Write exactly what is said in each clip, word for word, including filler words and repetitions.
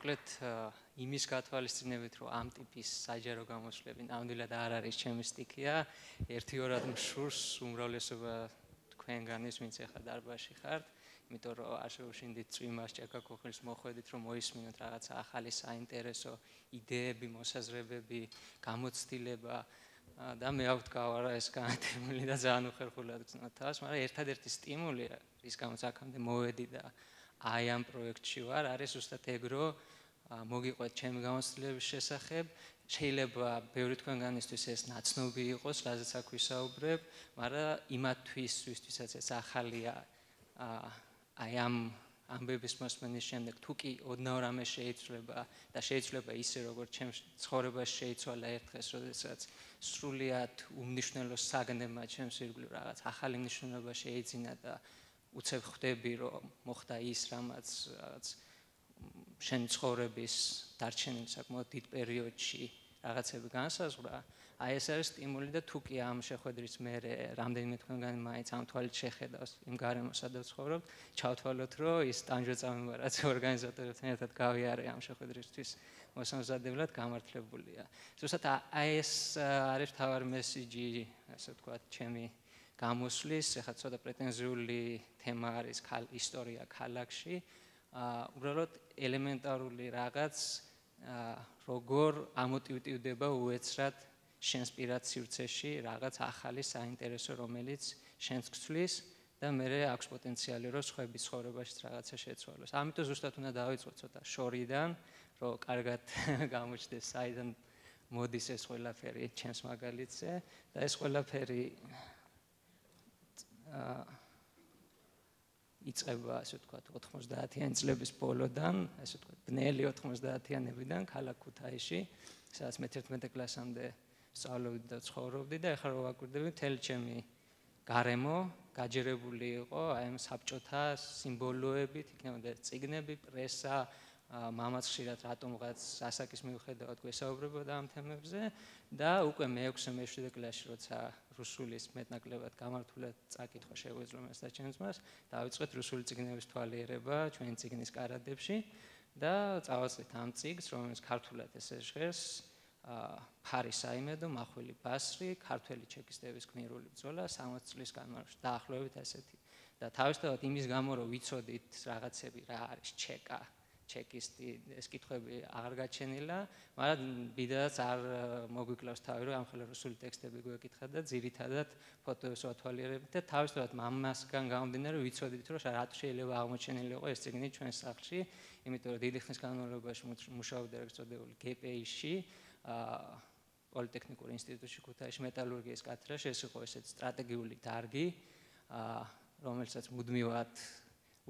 მოკლედ იმის გათვალისწინებით, რომ ამ ტიპის საჯარო გამოსვლები ნამდვილად არ არის ჩემი სტიქია, ერთი-ორად მშურს უმრავლესობა თქვენგანის, ვინც ახლა დარბაზში ხართ, იმიტომ რომ არ შევშინდით წვიმას, ჭექა-ქოხილს მოხვედით, რომ მოისმინოთ რაღაცა ახალი საინტერესო იდეები, მოსაზრებები, გამოცდილება და მე აქვთ გავარა ეს განათებული და ძალიან უხერხულად გრძნოთ თავს, მაგრამ ერთადერთი სტიმული, რის გამოც აქამდე მოვედი და აი ამ პროექტში ვარ, არის ზუსტად ეგ, რომ მოგიყვეთ ჩემი გამოცდილების შესახებ, შეიძლება ბევრი თქვენგანისთვის ეს ნაცნობი იყოს, რაზეც აქ ვისაუბრებ, მაგრამ იმათთვის, ვისთვისაც ეს ახალია, აი ამ ამბების მოსმენის შემდეგ თუ კი ოდნავ რამე შეიცვლება და შეიცვლება ისე, როგორც ჩემს ცხოვრებაში შეიცვალა ერთ დღეს, როდესაც სრულიად უმნიშვნელო საგნებმა ჩემს ირგვლივ რაღაც ახალი მნიშვნელობა შეიძინა და უცებ ხვდები, რომ მოხდა ის, რამაც რაღაც შენ ცხოვრების დარჩენილ საკმაოდ დიდ პერიოდში რაღაცები განსაზღვრა, აი ეს არის სტიმული და თუ კი ამ შეხვედრის მერე რამდენიმე თქვენგანი მაინც ამ თვალით შეხედავს იმ გარემოს, სადაც ცხოვრობთ, ჩავთვალოთ, რომ ის ტანჯვა-წამება, რაც ორგანიზატორებთან ერთად გავიარე ამ შეხვედრისთვის მოსამზადებლად, გამართლებულია. ზუსტად აი ეს არის მთავარი მესიჯი, ასე ვთქვათ, ჩემი გამოსვლის, ეხლა ცოტა პრეტენზიული თემა არის ისტორია ქალაქში. უბრალოდ ელემენტარული რაღაც როგორ ამოტივტივდება უეცრად შენს პირად სივრცეში რაღაც ახალი საინტერესო, რომელიც შენს გცვლის და მერე აქვს პოტენციალი, რომ სხვების ცხოვრებაშიც რაღაცა შეცვალოს. ამიტომ ზუსტად უნდა დავიწყოთ ცოტა შორიდან, რომ კარგად გამოჩნდეს საიდან მოდის ეს ყველაფერი ჩემს მაგალითზე და ეს ყველაფერი იწყება, ასე ვთქვათ, ოთხმოცდაათიანი წლების ბოლოდან, ასე ვთქვათ, ბნელი ოთხმოცდაათიანებიდან ქალაქ ქუთაისში, სადაც მე თერთმეტე კლასამდე სწავლობდი და ცხოვრობდი და ახლა რო ვაკვირდები, მთელი ჩემი გარემო გაჯერებული იყო აი ამ საბჭოთა სიმბოლოებით, იქნებოდა წიგნები, პრესა, მამაც ხშირად რატომღაც ასაკის მიუხედავად გვესაუბრებოდა ამ თემებზე და უკვე მეექვსე მეშვიდე კლასში, როცა რუსულის მეტნაკლებად გამართულად წაკითხვა შეგვეძლო მას და ჩემს მას, დავიწყეთ რუსული წიგნების თვალიერება ჩვენი წიგნის კარადებში და წავაწყდით ამ წიგნს, რომელიც ქართულად ესე ჟღერს, ფარი საიმედო, მახვილი ბასრი, ქართველი ჩეკისტების გმირული ბრძოლა სამოცი წლის განმავლობაში, დაახლოებით ასეთი. და თავისთავად იმის გამო, რომ ვიცოდით რაღაცები, რა არის ჩეკა, ჩეკისტი, ეს კითხვები აღარ გაჩენილა, მაგრამ ბიდადაც არ მოგვიკლავს თავი, რომ ამხელა რუსული ტექსტები გვეკითხა და ძირითადად ფოტოებს ვათვალიერებთ და თავისთავად ამასგან გამომდინარე, ვიცოდით, რომ რატო შეიძლება აღმოჩენილი იყო ეს წიგნი ჩვენს სახლში, იმიტომ რომ დიდი ხნის განმავლობაში მუშაობდა ეგრეთ წოდებული გე პე ი-ში, პოლიტექნიკურ ინსტიტუტში ქუთაისში მეტალურგიის კათედრაში, ეს იყო ესეთ სტრატეგიული დარგი, რომელსაც მუდმივად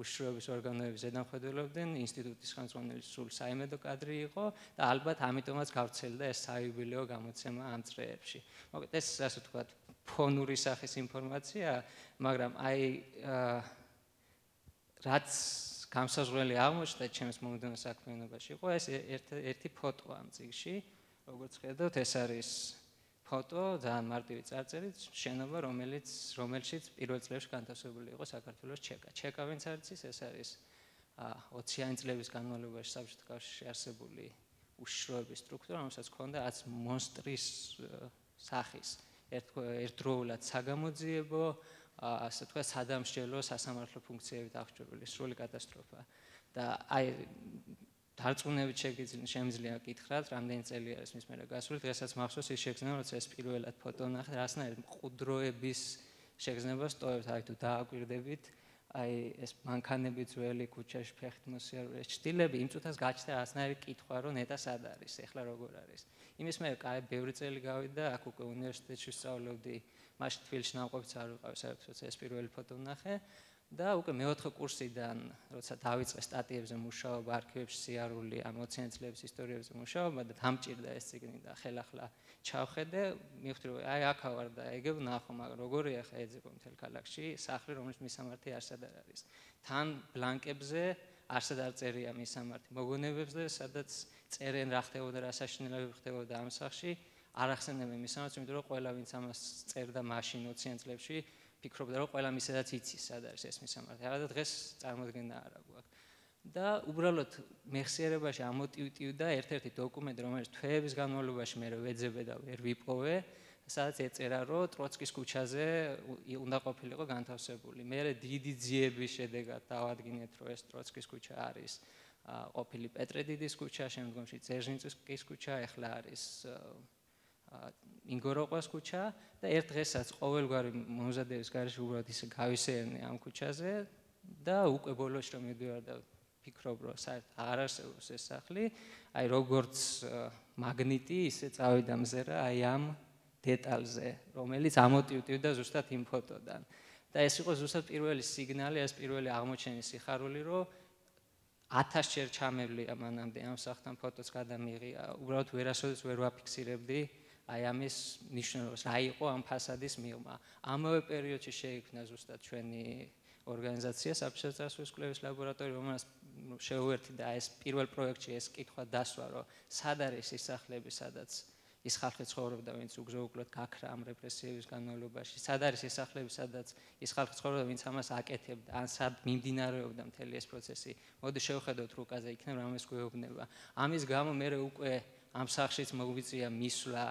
უშიშროების ორგანოები ზედამხედველობდნენ, ინსტიტუტის ხელმძღვანელი სულ საიმედო კადრი იყო და ალბათ ამიტომაც გავრცელდა ეს საიუბილეო გამოცემა ამ წრეებში. მოკლედ ეს ასე ვთქვათ, ფონური სახის ინფორმაცია, მაგრამ აი რაც გამსაზღვრელი აღმოჩნდა ჩემს მომდევნო საქმიანობაში იყო ეს ერთი ფოტო ამ წიგნში, როგორც ხედავთ, ეს არის ფოტო, ძალიან მარტივი წარწერით, შენობა, რომელიც რომელშიც პირველ წლებში განთავსებული იყო საქართველოს ჩეკა. ჩეკა ვინც არის ის, ეს არის ოციანი წლების განმავლობაში საბჭოთა კავშირში არსებული უშიშროების სტრუქტურა, რომელსაც ჰქონდა რაც მონსტრის სახის, ერთდროულად საგამოძიებო, ასე ვთქვათ, სადამსჯელო, სასამართლო ფუნქციებით აღჭურვილი სრული კატასტროფა. და აი დარწმუნებით შემიძლია გითხრათ, რამდენი წელი არის მის მერე გასული, დღესაც მახსოვს ის შეგრძნება, როცა ეს პირველად ფოტო ვნახე, რასნაირად მყუდროების შეგრძნებას ტოვებთ, აი თუ დააკვირდებით, აი ეს მანქანები ძველი ქუჩაში ფეხით მოსიარულე ჩtildeები, იმ წუთას გაჩნდა რასნაირი კითხვა, რომ ნეტა სად არის, ეხლა როგორ არის. იმის მერე კაი ბევრი წელი გავიდა, აქ უკვე უნივერსიტეტში ვსწავლობდი, მაშინ თბილისში ნამყოფიც არ ვიყავი, საერთოდ როცა ეს პირველი ფოტო ვნახე. და უკვე მეოთხე კურსიდან, როცა დავიწყე სტატიებზე მუშაობა, არქივებში სიარული, ამ ოციანი წლების ისტორიებზე მუშაობა და დამჭირდა ეს წიგნი და ხელახლა ჩავხედე, მივხვდი რომ აი აქ ვარ და ეგ ვნახო, მაგრამ როგორია ხა ეძებო მთელ ქალაქში სახლი, რომელიც მისამართი არსად არ არის. თან ბლანკებზე არსად არ წერია მისამართი. მოგონებებზე, სადაც წერენ რა ხდებოდა, რა საშინელებები ხდებოდა ამ სახლში, არ ახსენებენ მისამართს, იმიტომ რომ ყველა ვინც ამას წერდა მაშინ ოციან წლებში ფიქრობდა რომ ყველა მისედაც იცის სად არის ეს მისამართი. არა და დღეს წარმოდგენა არა გვაქვს. და უბრალოდ მეხსიერებაში ამოტივტივდა ერთ-ერთი დოკუმენტი, რომელიც თვეების განმავლობაში მე ვეძებე და ვერ ვიპოვე, სადაც ეწერა, რომ ტროცკის ქუჩაზე უნდა ყოფილიყო განთავსებული. მე დიდი ძიების შედეგად დავადგინეთ, რომ ეს ტროცკის ქუჩა არის ყოფილი პეტრედიდის ქუჩა, შემდგომში ძერჟინსკის ქუჩა, ეხლა არის ინგოროყვას ქუჩა და ერთ დღესაც ყოველგვარი მომზადების გარეშე უბრალოდ ისე გავისეირნე ამ ქუჩაზე და უკვე ბოლოს რომ მივდივარ და ფიქრობ, რომ საერთოდ აღარ არსებობს ეს სახლი, აი როგორც მაგნიტი ისე წავიდა მზერა აი ამ დეტალზე, რომელიც ამოტივტივდა ზუსტად იმ ფოტოდან. და ეს იყო ზუსტად პირველი სიგნალი, ეს პირველი აღმოჩენის სიხარული, რომ ათასჯერ ჩამევლია მანამდე ამ სახლთან ფოტოც გადამიღია, უბრალოდ ვერასოდეს ვერ ვაფიქსირებდი აი ამის ნიშნულობას, რა იყო ამ ფასადის მიღმა. ამავე პერიოდში შეიქმნა ზუსტად ჩვენი ორგანიზაცია საფშე წარსულის კვლევის ლაბორატორია, რომელსაც შევუერთდი და ეს პირველ პროექტში ეს კითხვა დასვა, რომ სად არის ის სახლები, სადაც ის ხალხი ცხოვრობდა, ვინც უგზო-უკლოდ გაქრა ამ რეპრესიების განმავლობაში. სად არის ეს სახლები, სადაც ის ხალხი ცხოვრობდა, ვინც ამას აკეთებდა, ან სად მიმდინარეობდა მთელი ეს პროცესი. მოდი შევხედოთ რუკაზე, იქნებ რამეს გვეუბნება. ამის გამო მე უკვე ამ სახლშიც მოგვიწია მისვლა,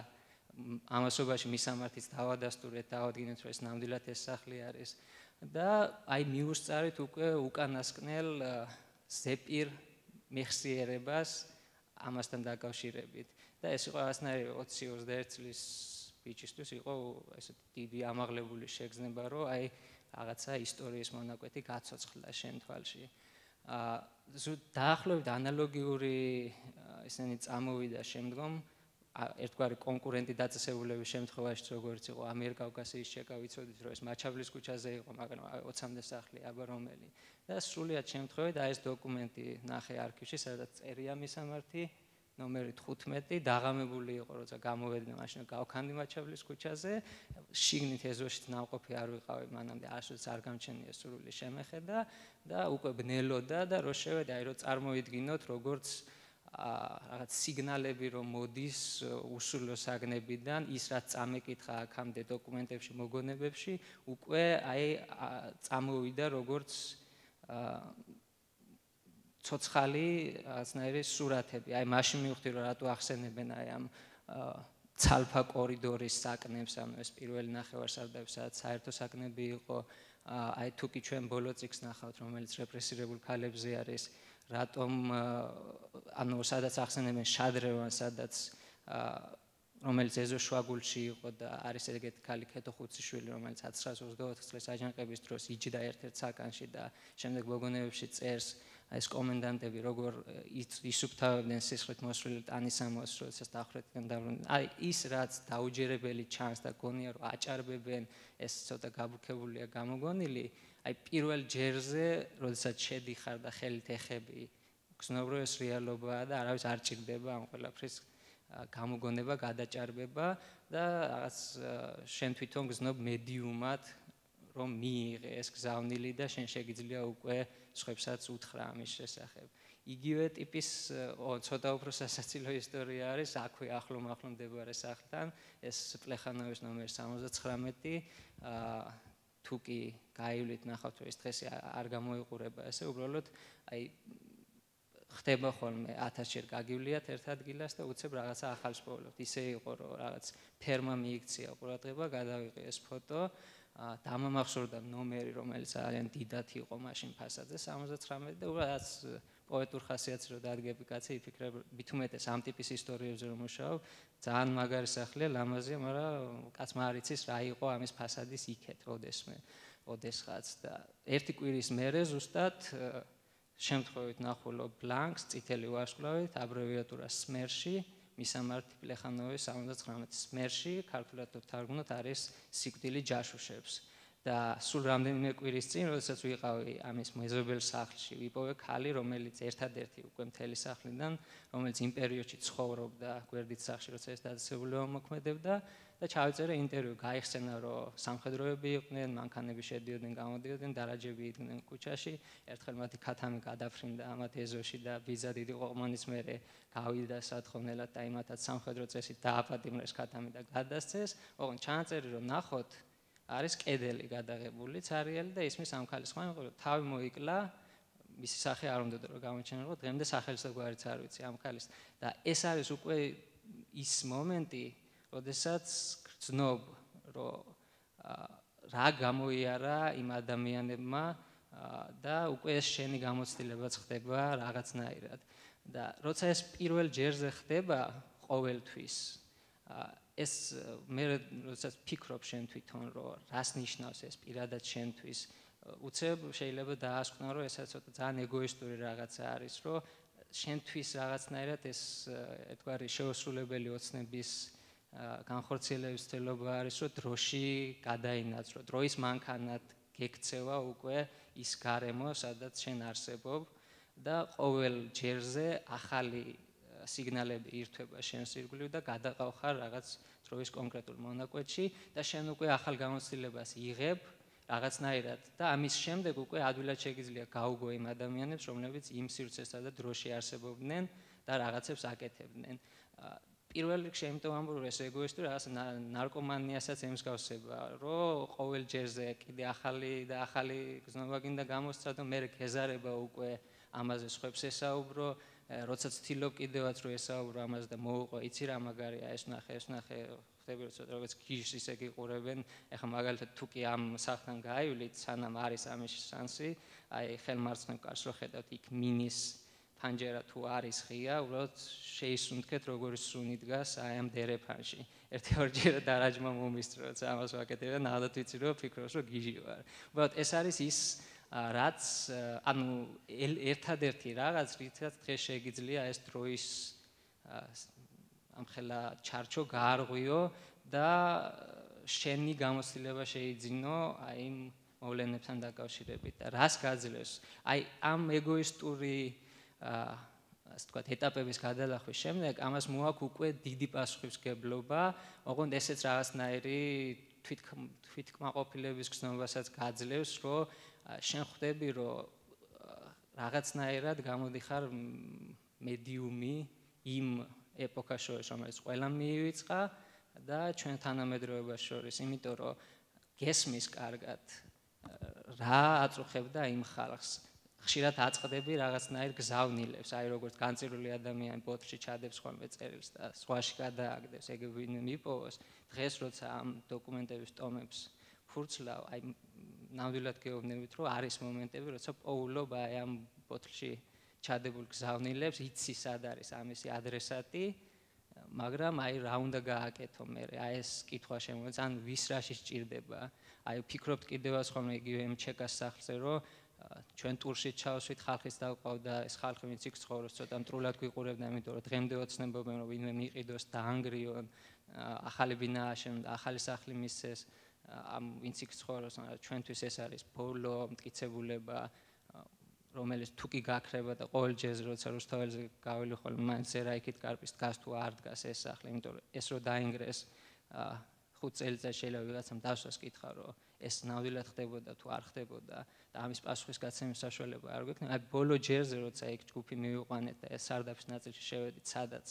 ამასობაში მისამართიც დავადასტურეთ, დავადგინეთ, რომ ეს ნამდვილად ეს სახლი არის. და აი მიუსწარით უკვე უკანასკნელ ზეპირ მეხსიერებას ამასთან დაკავშირებით. და ეს იყო ასნაირი ოცი ოცდაერთი წლის ბიჭისთვის იყო ესეთი დიდი ამაღლებული შეგრძნება, რომ აი რაღაცა ისტორიის მონაკვეთი გაცოცხლდა შენ თვალში. აა დაახლოებით ანალოგიური ესენი წამოვიდა შემდგომ ერთგვარი კონკურენტი დაწესებულების შემთხვევაში, როგორც იყო ამიერკავკასიის ჩეკა, ვიცოდით, რომ ეს მაჩაბლის ქუჩაზე იყო, მაგრამ ოცამდე სახლი აბა რომელი. და სრულიად შემთხვევით აი ეს დოკუმენტი ნახე არქივში, სადაც წერია მისამართი ნომერი თხუთმეტი, დაღამებული იყო, როცა გამოვედნენ მაშინ გავქანდი მაჩაბლის ქუჩაზე, შიგნით ეზოშიც ნამყოფი არ ვიყავი, მანამდე არასოდეს არ გამჩენია სრული შემეხედა და უკვე ბნელოდა და რო შევედი, აი რო წარმოიდგინოთ, როგორც რაღაც სიგნალები რომ მოდის უსულო საგნებიდან, ის რაც წამეკითხა აქამდე დოკუმენტებში, მოგონებებში, უკვე აი წამოვიდა როგორც ცოცხალი რაღაცნაირი სურათები. აი მაშინ მივხვდი, რომ რატო ახსენებენ აი ამ ცალფა კორიდორის საკნებს, ანუ ეს პირველი ნახევარსარდაფი, სადაც საერთო საკნები იყო, აი თუ კი ჩვენ ბოლო წიგნს ნახავთ, რომელიც რეპრესირებულ ქალებზე არის, რატომ ანუ სადაც ახსენებენ შადრევანს, სადაც რომელიც ეზო შვაგულში იყო და არის ეგეთი ქალი ქეთო ხუციშვილი, რომელიც ათასცხრაათს ოცდაოთხ წლის აჯანყების დროს იჯდა ერთ-ერთ საკანში და შემდეგ მოგონებებში წერს ეს კომენდანტები როგორ ისუფთავებდნენ სისხლით მოსვლილი ტანისამოს, როდესაც დახრეთიდან დაბრუნდნენ. აი ის რაც დაუჯერებელი ჩანს და გონია რომ აჭარბებენ, ეს ცოტა გაბუქებულია გამოგონილი, აი პირველ ჯერზე, როდესაც შედიხარ და ხელით ეხები, გრძნობ რომ ეს რეალობაა და არავის არ ჭირდება ამ ყველაფრის გამოგონება, გადაჭარბება და რაღაც შენ თვითონ გრძნობ მედიუმად რომ მიიღე ეს გზავნილი და შენ შეგიძლია უკვე სხვებსაც უთხრა ამის შესახებ. იგივე ტიპის ცოტა უფრო სასაცილო ისტორია არის აქვე ახლო-ახლო მდებარე სახლთან, ეს პლეხანოვის ნომერი სამოცდაცხრამეტი, თუ კი გაივლით ნახავთ რომ ეს დღეს არ გამოიყურება, ესე უბრალოდ აი ხდება ხოლმე ათასჯერ გაგივლიათ ერთ ადგილას და უცებ რაღაცა ახალს პოვლობთ. ისე იყო რომ რაღაც ფერმა მიიქცია ყურადღება, გადავიღე ეს ფოტო, დამამახსოვრდა ნომერი, რომელიც ძალიან დიდად იყო მაშინ ფასადზე სამოცდაცხრამეტი და უბრალოდ პოეტურ ხასიათს რო დადგები კაცი, იფიქრებ მithumetes ამ ტიპის ისტორიებზე რომ მუშაობ, ძალიან მაგარი სახლია, ლამაზია, მაგრამ კაცმა არ იცის რა იყო ამის ფასადის იქეთ, ოდესმე, ოდესღაც და ერთი კვირის მერე ზუსტად შემთხვევით ნახულობ ბლანკს, წითელი ვარსკვლავით, აბრევიატურა სმერში, მისამართი პლეხანოვის სამოცდაცხრამეტი სმერში, ქართულად თარგმნოთ არის სიკვდილი ჯაშუშებს. და სულ რამდენიმე კვირის წინ, როდესაც ვიყავი ამის მეზობელ სახლში, ვიპოვე ქალი, რომელიც ერთადერთი უკვე მთელი სახლიდან, რომელიც იმ პერიოდში ცხოვრობდა გვერდით სახლში, როცა ეს დაწესებულება მოქმედებდა და ჩავიწერე ინტერვიუ, გაიხსენა, რომ სამხედროები იყვნენ, მანქანები შედიოდნენ, გამოდიოდნენ, დარაჯები იდგნენ ქუჩაში, ერთხელ მათი ქათამი გადაფრინდა ამათ ეზოში და ბიძა დიდი ყოყმანის მერე გავიდა სათხოვნელად და იმათაც სამხედრო წესით დააპატიმრეს ქათამი და გადასცეს. ოღონდ ჩანაწერი რომ ნახოთ არის კედელი გადაღებული, ცარიელი და ისმის ამ ქალის ხმა, თავი მოიკლა, მისი სახე არ უნდა რომ გამოჩენილიყო, დღემდე სახელისაგვარიც არ ვიცი ამ ქალის. და ეს არის უკვე ის მომენტი, როდესაც გრძნობ, რომ რა გამოიარა იმ ადამიანებმა და უკვე ეს შენი გამოცდილებაც ხდება რაღაცნაირად. და როცა ეს პირველ ჯერზე ხდება ყოველთვის, ეს მე როდესაც ფიქრობ შენ თვითონ, რომ რას ნიშნავს ეს პირადად შენთვის, უცებ შეიძლება დაასკვნა, რომ ესაც ცოტა ძალიან ეგოისტური რაღაცა არის, რომ შენთვის რაღაცნაირად ეს ერთგვარი შეუსრულებელი ოცნების განხორციელების ცდილობა არის, რომ დროში გადაინაცვლო, დროის მანქანად გექცევა უკვე ის გარემო, სადაც შენ არსებობ და ყოველ ჯერზე ახალი სიგნალები ირთვება შენს ირგვლივ და გადაყავ ხარ რაღაც დროის კონკრეტულ მონაკვეთში და შენ უკვე ახალ გამოცდილებას იღებ რაღაცნაირად და ამის შემდეგ უკვე ადვილად შეგიძლია გაუგო იმ ადამიანებს, რომლებიც იმ სივრცესა და დროში არსებობდნენ და რაღაცებს აკეთებდნენ. პირველ რიგში იმიტომ ამბობ, რომ ეს ეგოისტური რაღაც ნარკომანიასაც ემსგავსება, რომ ყოველ ჯერზე კიდე ახალი და ახალი გზნობა გინდა გამოსცადო და მე გეზარება უკვე ამაზე სხვებს ესაუბრო, როცა ცდილობ კიდევაც რომ ესაუბრო ამაზე და მოუყვა, იცი რა მაგარია, ეს ნახე, ეს ნახე, ხდები რომ ცოტა როგორც გიჟს ისე გიყურებენ, ეხლა მაგალითად თუ კი ამ სახთან გაივლით, სანამ არის ამის შანსი, აი ხელმარცხნივ კარს რო ხედავთ, იქ მინის ფანჯერა თუ არის ღია, უბრალოდ შეისუნთქეთ როგორი სუნი დგას აი ამ დერეფანში. ერთი ორჯერ დარაჯმა მომისწრო, როცა ამას ვაკეთებ და ნახოთ ვიცი რომ ფიქრობს რომ გიჟი ვარ. უბრალოდ ეს არის ის რაც ანუ ერთადერთი რაღაც რითაც დღეს შეგიძლია ეს დროის ამხელა ჩარჩო გაარღვიო და შენი გამოცდილება შეიძინო აი იმ მოვლენებთან დაკავშირებით და რას გაძლევს აი ამ ეგოისტური ასე ვთქვათ ეტაპების გადალახვის შემდეგ ამას მოაქვს უკვე დიდი პასუხისმგებლობა, ოღონდ ესეც რაღაცნაირი თვითკმაყოფილების გზნობასაც გაძლევს, რომ შენ ხვდები, რომ რაღაცნაირად გამოდიხარ მედიუმი იმ ეპოქას შორის, რომელიც ყველამ მიივიწყა და ჩვენ თანამედროვეობას შორის, იმიტომ რომ გესმის კარგად რა აწუხებდა იმ ხალხს. ხშირად აწყდები რაღაცნაირ გზავნილებს, აი როგორც განწირული ადამიანი ბოთლში ჩადებს ხოლმე წერილს და სხვაში გადააგდებს, ეგ ვინმე მიპოვოს. დღეს როცა ამ დოკუმენტების ტომებს ფურცლავ, აი ნამდვილად გეუბნებით, რომ არის მომენტები, როცა პოულობ აი ამ ბოთლში ჩადებულ გზავნილებს, იცი სად არის ამისი ადრესატი, მაგრამ აი რა უნდა გააკეთო მე, აი ეს კითხვა შემოეც, ან ვის რაში სჭირდება. აი ფიქრობთ კიდევაც ხოლმე იგივე იმ ჩეკას სახლზე, რომ ჩვენ ტურში ჩავსვით, ხალხის დავყავდა, ეს ხალხი ვინც იქ ცხოვრობს, ცოტა მტრულად გვიყურებდა, იმიტომ რომ დღემდე ოცნებობენ, რომ ვინმე მიყიდოს, დაანგრიონ, ახალი ბინა აშენონ, ახალი სახლი მისცეს, ამ ვინც იქ ცხოვრობს, ჩვენთვის ეს არის ბოლო მტკიცებულება, რომელიც თუ კი გაქრება და ყოველ ჯერზე როცა რუსთაველზე გაველი ხოლმე, მაინც ზერა იქით კარპის დგას თუ არ დგას ეს სახლი, იმიტომ რომ ეს რო დაინგრეს ხუთ წელიწადში შეიძლება ვიღაცამ დასვას კითხა, რომ ეს ნამდვილად ხდებოდა თუ არ ხდებოდა და ამის პასუხის გაცემის საშუალება არ გვექნება. აი ბოლო ჯერზე როცა იქ ჯგუფი მივიყვანეთ და ეს სარდაფის ნაწილში შევედით, სადაც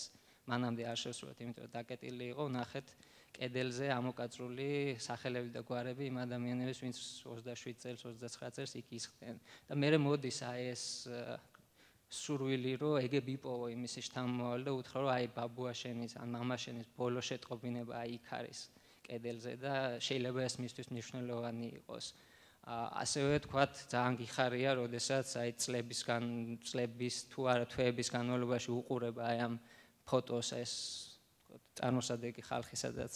მანამდე არ შევსრულეთ, იმიტომ რომ დაკეტილი იყო, ნახეთ კედელზე ამოკაწრული სახელები და გვარები იმ ადამიანების, ვინც ოცდაშვიდ წელს, ოცდაცხრა წელს იქ ისხდნენ. და მე მოდის აი ეს სურვილი, რომ ეგ ვიპოვო იმისი შთამომავალი და უთხრა, რომ აი ბაბუა შენის, ან მამა შენის ბოლო შეტყობინება აი იქ არის კედელზე და შეიძლება ეს მისთვის მნიშვნელოვანი იყოს. ასევე თქვათ, ძალიან გიხარია, როდესაც აი წლების გან წლების თუ არა თვეების განმავლობაში უყურება აი ამ ფოტოს ეს წარმოსადეგი ხალხი, სადაც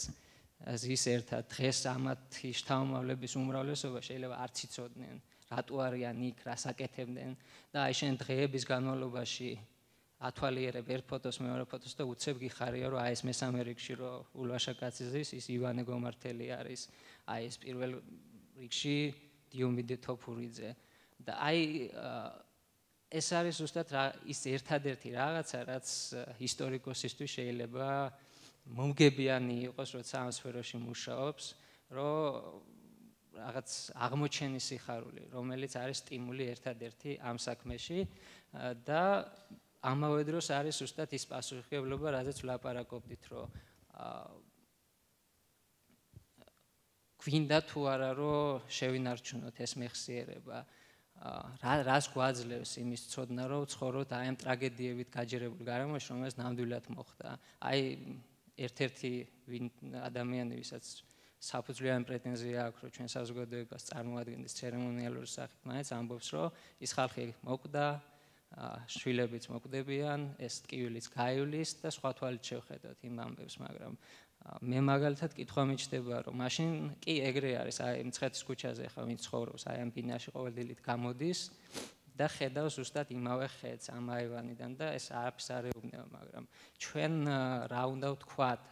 ზის ერთად დღეს ამათი შთამომავლების უმრავლესობა შეიძლება არც იცოდნენ, რატო არიან იქ, რას აკეთებდნენ და აი შენ დღეების განმავლობაში ათვალიერებ ერთ ფოტოს, მეორე ფოტოს და უცებ გიხარია, რომ აი ეს მესამე რიგში რომ ულვაშა კაცი ზის, ის ივანე გომართელი არის, აი ეს პირველ რიგში დიომიდე თოფურიძე და აი ეს არის ზუსტად ის ერთადერთი რაღაცა, რაც ისტორიკოსისთვის შეიძლება მომგებიანი იყოს, როცა ამ სფეროში მუშაობს, რომ რაღაც აღმოჩენის სიხარული, რომელიც არის სტიმული ერთადერთი ამ საქმეში და ამავე დროს არის ზუსტად ის პასუხისმგებლობა, რაზეც ვლაპარაკობდით, რომ გვინდა თუ არა რომ შევინარჩუნოთ ეს მეხსიერება. რა რას გვაძლევს იმის ცოდნა, რომ ვცხოვროთ აი ამ ტრაგედიებით გაჯერებულ გარემოში, რომელიც ნამდვილად მოხდა. აი ერთ-ერთი ადამიანი, ვისაც საფუძვლიანი პრეტენზია აქვს, რომ ჩვენ საზოგადოებას წარმოადგენდეს ცერემონიალური სახით, მაინც ამბობს, რომ ის ხალხი მოკვდა, შვილებიც მოკვდებიან, ეს ტკივილიც გაივლის და სხვა თვალით შევხედოთ იმ ამბებს, მაგრამ მე მაგალითად კითხვა მიჩნდება, რომ მაშინ კი ეგრე არის, აი მცხეთის ქუჩაზე ხა ვინც ცხოვრობს, აი ამ ბინაში ყოველდღიურად გამოდის და ხედავს ზუსტად იმავე ხედს ამ აივანიდან და ეს არაფერს არ ეუბნება, მაგრამ ჩვენ რა უნდა ვთქვათ,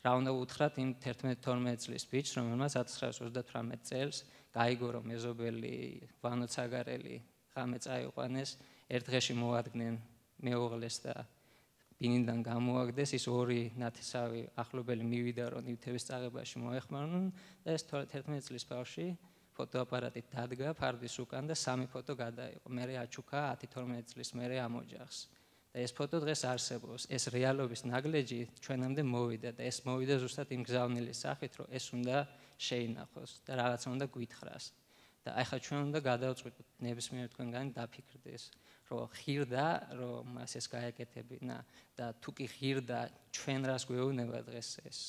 რა უნდა უთხრათ იმ თერთმეტ თორმეტ წლის ბიჭს, რომელმაც ათას ცხრაასი ოცდათვრამეტ წელს გაიგო, რომ მეზობელი ვანო ცაგარელი ღამე წაიყვანეს, ერთ დღეში მოადგნენ მეუღლეს და ბინიდან გამოაგდეს, ის ორი ნათესავი ახლობელი მივიდა, რომ ნივთების წაღებაში მოეხმარნენ და ეს თერთმეტ წლის ბავშვი ფოტოაპარატით დადგა ფარდის უკან და სამი ფოტო გადაიღო. მერე აჩუქა ათი თორმეტ წლის მერე ამ ოჯახს. და ეს ფოტო დღეს არსებობს. ეს რეალობის ნაგლეჯი ჩვენამდე მოვიდა და ეს მოვიდა ზუსტად იმ გზავნილის სახით, რომ ეს უნდა შეინახოს და რაღაცა უნდა გვითხრას. და ახლა ჩვენ უნდა გადავწყვიტოთ, ნებისმიერ თქვენგანი დაფიქრდეს, რომ ღირდა, რომ მას ეს გაეკეთებინა და თუ კი ღირდა, ჩვენ რას გვეუბნება დღეს ეს,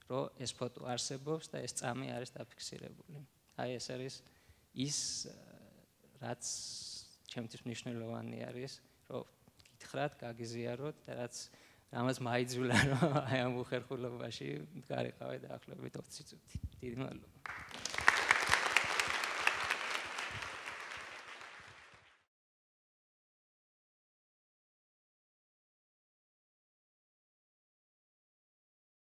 რომ ეს ფოტო არსებობს და ეს წამი არის დაფიქსირებული. აი ეს არის ის, რაც ჩემთვის მნიშვნელოვანი არის, რომ გითხრათ, გაგიზიაროთ და რაც რამაც მაიძულა, რომ აი ამ უხერხულობაში მდგარიყავი დაახლოებით ოცი წუთი. დიდი მადლობა.